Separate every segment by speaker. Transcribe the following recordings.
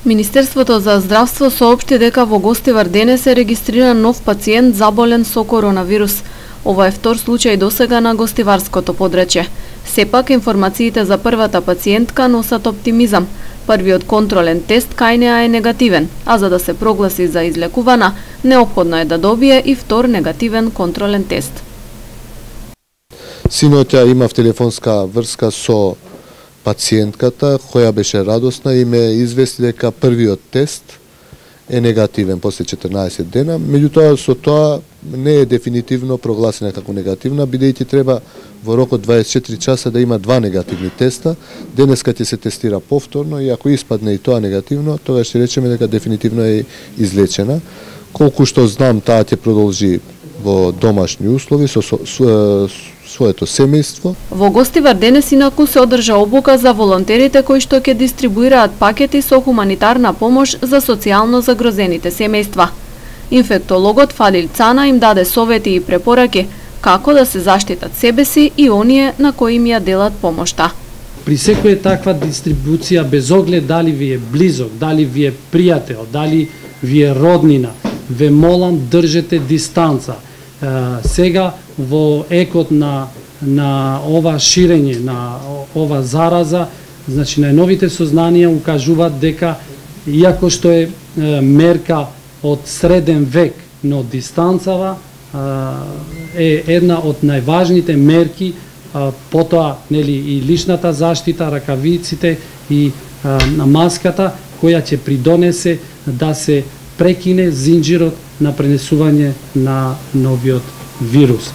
Speaker 1: Министерството за здравство соопшти дека во Гостивар денес е регистриран нов пациент заболен со коронавирус. Ова е втор случај досега на гостиварското подречје. Сепак, информациите за првата пациентка носат оптимизам. Првиот контролен тест кај неа е негативен, а за да се прогласи за излекувана, неопходно е да добие и втор негативен контролен тест.
Speaker 2: Синоќа имав телефонска врска со пациентката, која беше радосна и ме извести дека првиот тест е негативен после 14 дена, меѓутоа со тоа не е дефинитивно прогласена како негативна, бидејќи треба во рок од 24 часа да има 2 негативни теста. Денеска ќе се тестира повторно и ако испадне и тоа негативно, тогаш ќе речеме дека дефинитивно е излечена. Колку што знам, таа ќе продолжи во домашни услови со своето семејство.
Speaker 1: Во Гостивар денес инаку се одржа обука за волонтерите кои што ќе дистрибуираат пакети со хуманитарна помош за социјално загрозените семејства. Инфектологот Фалил Цана им даде совети и препораки како да се заштитат себе си и оние на кои им ја делат помошта.
Speaker 3: При секоја таква дистрибуција, без оглед дали ви е близок, дали ви е пријател, дали ви е роднина, ве молам држете дистанца. Сега во екот на ова ширење, на ова зараза, значи најновите сознанија укажуваат дека иако што е мерка од среден век, но дистанцава е една од најважните мерки, потоа нели и личната заштита, ракавиците и маската која ќе придонесе да се прекине зинџирот на пренесување на новиот вирус.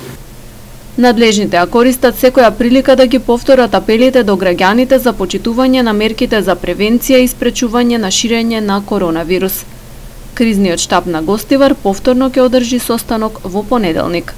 Speaker 1: Надлежните користат секоја прилика да ги повторат апелите до граѓаните за почитување на мерките за превенција и спречување на ширење на коронавирус. Кризниот штаб на Гостивар повторно ќе одржи состанок во понеделник.